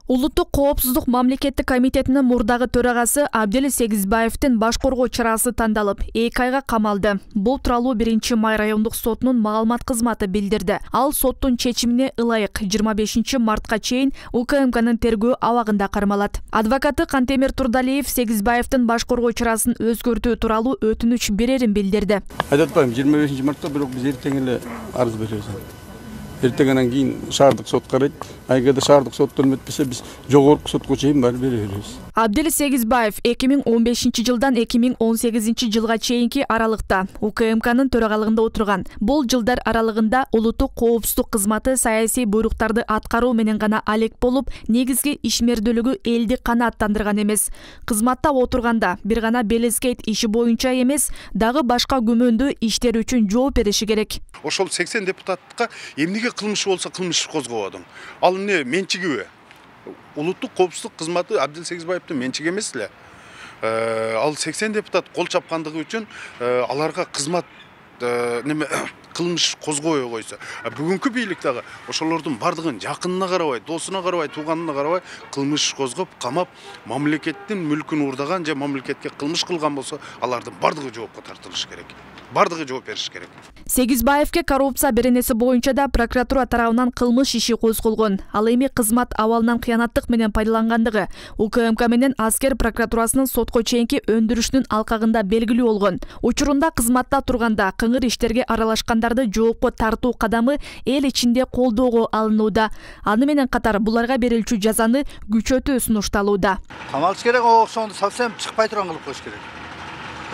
Улуттук коопсуздук мамлекеттик комитетинин мурдагы төрагасы Абдел Сегизбаевдин баш коргоо чарасы тандалып, 2 айга камалды. Бул тууралуу 1-май райондук сотунун маалымат кызматы билдирди. Ал соттун чечимине ылайык 25-мартка чейин УКМКнын тергөө абагында кармалат. Адвокаты Кантемир Турдалиев Сегизбаевдин баш коргоо чарасын өзгөртүү тууралуу өтүнүч берерин билдирди. Айтып атпайм, 25-мартта бирок биз эртең эле арыз беребиз. Эртеңден кийин шаардык сот карайт. Айгада шаардык сот өтпөсө биз жогорку сотко чейин барып беребиз. Абдел Сегизбаев 2015-жылдан 2018-жылга чейинки аралыкта УКМКнын төрагалыгында отурган. Бул жылдар аралыгында улуттук коопсуздук кызматы саясий буйруктарды аткаруу менен гана алек болуп, негизги ишмердүүлүгү элди канааттандырган эмес. Кызматта отурганда бир гана Белескейт иши боюнча эмес, дагы башка күмөндүү иштер үчүн жооп бериши керек. Ошол 80 депутатка эмнеге кылмыш болсо кылмыш козгободуң? Ал эмне менчигиби? Улуттук коопсуздук кызматы Абдел Сегизбаевдин менчиги эмес эле. Ал 80 депутат кол чапкандыгы үчүн аларга кызмат кылмыш козгобой койсо, бүгүнкү бийлик дагы ошолордун бардыгын жакынына карабай, досуна карабай, тууганына карабай кылмыш козгоп, камап, мамлекеттин мүлкүн уурдаган же мамлекетке кылмыш кылган болсо, алардын бардыгы жоопко тартылышы керек. Бардыгы жооп бериш керек. Сегизбаевке коррупция беренеси боюнча да прокуратура тарабынан кылмыш иши козголгон. Ал эми кызмат абалынан кыянаттык менен пайдалангандыгы УКМК менен аскер прокуратурасынын сотко чейинки өндүрүшүнүн алкагында белгилүү болгон. Учурунда кызматта турганда кыңыр иштерге аралашкандарды жоопко тартуу кадамы эл ичинде колдоого алынууда. Аны менен катар буларга берилчү жазаны күчөтүү сунушталууда. Камалыш керек, ошондо совсем чыкпай турган кылып коюш керек.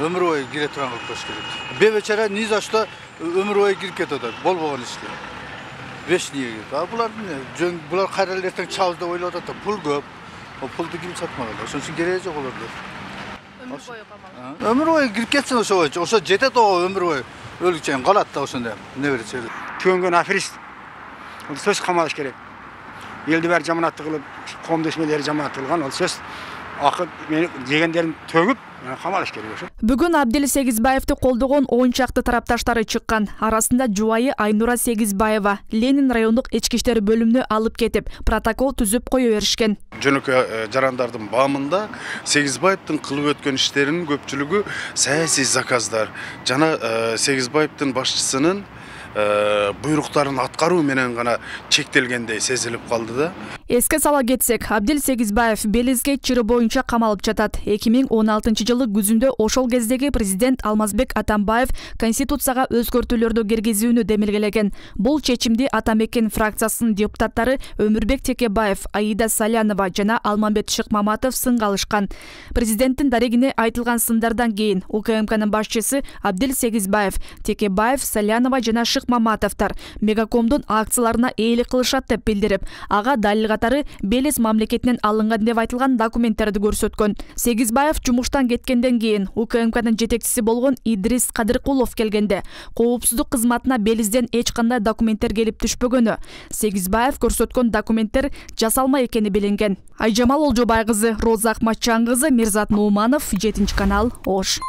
Өмүр бою кире турган кылып коюш керек. Бебечара ни за что өмүр бою кирип кетип атат, болбогон ишке. Вечный. Булар кайра эле эртең чабыз деп ойлоп атат, пул көп. О пулду ким сатмаган? Ошон үчүн кереги жок олордо. Өмүр бою камалып. Өмүр бою кирип кетсин ошо жетет о өмүр бою. Өлүкчен калат да ошондо. Не берет? Төнгөн аферист. Ол сөз камалыш керек. Элди баары жаманаттык кылып, коомдошмелери жаманат кылган, ол сөз акы мени дегендерин төгүп камалыш керек. Бүгүн Абдел Сегизбаевди колдогон 10 чакты тарапташтары чыккан. Арасында жубайы Айнура Сегизбаева Ленин райондук ички иштер бөлүмүнө алып кетип, протокол түзүп кое беришкен. Жөнөкөй жарандардын баамында Сегизбаевдин кылып өткөн иштеринин көпчүлүгү саясий заказдар жана Сегизбаевдин башчысынын буйруктарын аткаруу менен гана чектелгендей сезилип калды да. Эске сала кетсек, Абдел Сегизбаев Белескейт чыры боюнча камалып жатат. 2016-жылы күзүндө ошол кездеги президент Алмазбек Атамбаев конституцияга өзгөртүүлөрдү киргизүүнү демилгелеген. Бул чечимди Атамекен фракциясынын депутаттары Өмүрбек Текебаев, Аида Салянова жана Алмамбет Шыкмаматов сынга алышкан. Президенттин дарегине айтылган сындардан кийин УКМКнын башчысы Абдел Сегизбаев, Текебаев, Салянова жана Шыкмаматовдор Мегакомдун акцияларына ээлик кылышат деп билдирип, ага далил катары Белес мамлекетинен алынган деп айтылган документтерди көрсөткөн. Сегизбаев жумуштан кеткенден кийин УКМКнын жетекчиси болгон Идрис Кадыркулов келгенде коопсуздук кызматына Белизден эч кандай документтер келип түшпөгөнү, Сегизбаев көрсөткөн документтер жасалма экени билинген. Айжамал Олжобай кызы, Роза Акматжан кызы, Мирзат Нууманов, 7 канал, Ош.